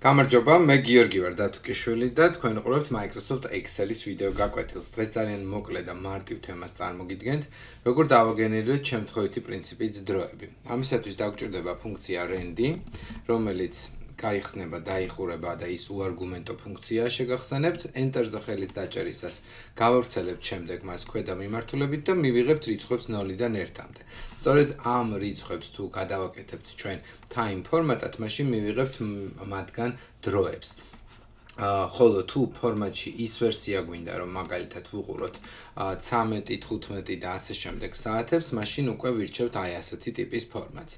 გამარჯობა, მე გიორგი ვარ დათუკიშვილი და თქვენ უყურებთ Microsoft Excel-ის ვიდეო გაკვეთილს. დღეს ძალიან მოკლე და მარტივ თემას წარმოგიდგენთ, როგორ დავაგენერიროთ შემთხვევითი პრინციპით დროები. ამისათვის დაგვჭირდება ფუნქცია randy, რომელიც გაიხსნება, დაიხურება და ის უარგუმენტო ფუნქციაა შეგახსენებთ. Enter-ზე ხელის დაჭერისას გავავრცელებთ შემდეგ მას ქვედა მიმართულებით და მივიღებთ რიცხვებს 0-დან 1-მდე. სწორედ ამ რიცხვებს თუ გადავაკეთებთ ჩვენ time ფორმატად, მაშინ მივიღებთ მათგან დროებს. ხოლო თუ ფორმატში ის ვერსია გვინდა, რომ მაგალითად ვუყუროთ 13, 15 და ასე შემდეგ საათებს, მაშინ უკვე ვირჩევთ აი ასეთი ტიპის ფორმატს.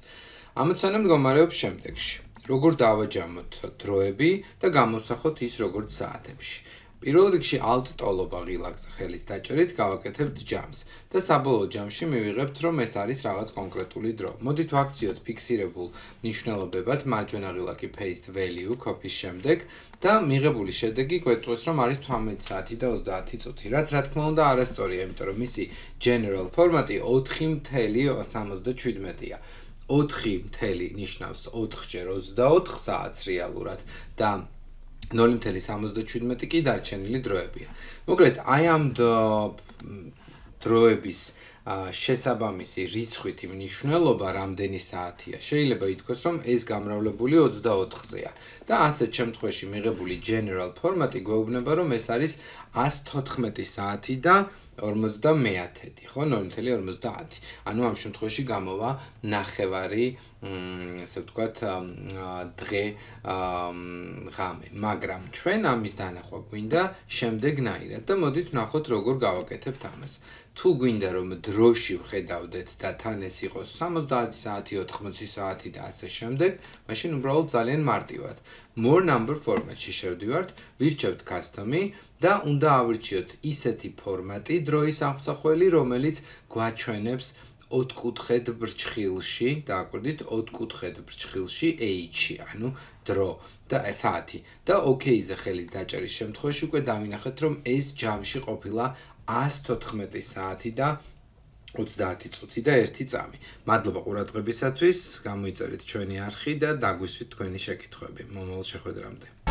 ამოცანა მდგომარეობს შემდეგში. როგორ დავაჯამოთ დროები და გამოვსახოთ ის როგორც საათებში. პირველ რიგში alt ტოლობა ღილაკზე ხელის დაჭერით გავაკეთებთ ჯამს და საბოლოო ჯამში მივიღებთ, რომ ეს არის რაღაც კონკრეტული დრო. მოდით ვაქციოთ ფიქსირებულ მნიშვნელობებად მარჯვენა ღილაკი paste value copy-ის შემდეგ და მიღებული შედეგი გვეტყვის, რომ არის 18 საათი და 30 წუთი. რაც რა თქმა უნდა არასწორია, იმიტომ რომ მისი general ფორმატი 4.77-ია. 4 ნიშნავს 4-ჯერ 24 საათს რეალურად და 0.77 კი დარჩენილი დროებია. მოკლედ, აი ამ დროების შესაბამისი რიცხვითი მნიშვნელობა რამდენი საათია. შეიძლება ითქვას, რომ ეს გამრავლებული 24-ზეა და ასეთ შემთხვევაში მიღებული general ფორმატი გვეუბნება, რომ ეს არის 114 საათი და 50, ხო, 0.50. ანუ ამ შემთხვევაში გამოვა ნახევარი, ესე ვთქვათ, დღე ღამე, მაგრამ ჩვენ ამის დანახვა გვინდა შემდეგნაირად და მოდით ვნახოთ როგორ გავაკეთებთ ამას. თუ გვინდა რომ დროში ვხედავდეთ და თან ეს იყოს 70 საათი, 80 საათი და ასე შემდეგ, მაშინ უბრალოდ ძალიან მარტივად more number ფორმატში შევდივართ, ვირჩევთ custom-ი და უნდა ავირჩიოთ ისეთი ფორმატი დროის ამსახველი, რომელიც გვაჩვენებს 4-კუთხედ ბრჩხილში, დააკვირდით 4-კუთხედ ბრჩხილში H-ი, ანუ დრო და საათი და OK-ზე ხელის დაჭერის შემთხვევაში უკვე დავინახეთ, რომ ეს ჯამში ყოფილა 114 საათი და 30 წუთი და 1 წამი. მადლობა ყურადღებისათვის, გამოიწერეთ ჩვენი არხი და დაგვისვით თქვენი შეკითხვები. მომავალ შეხვედრამდე.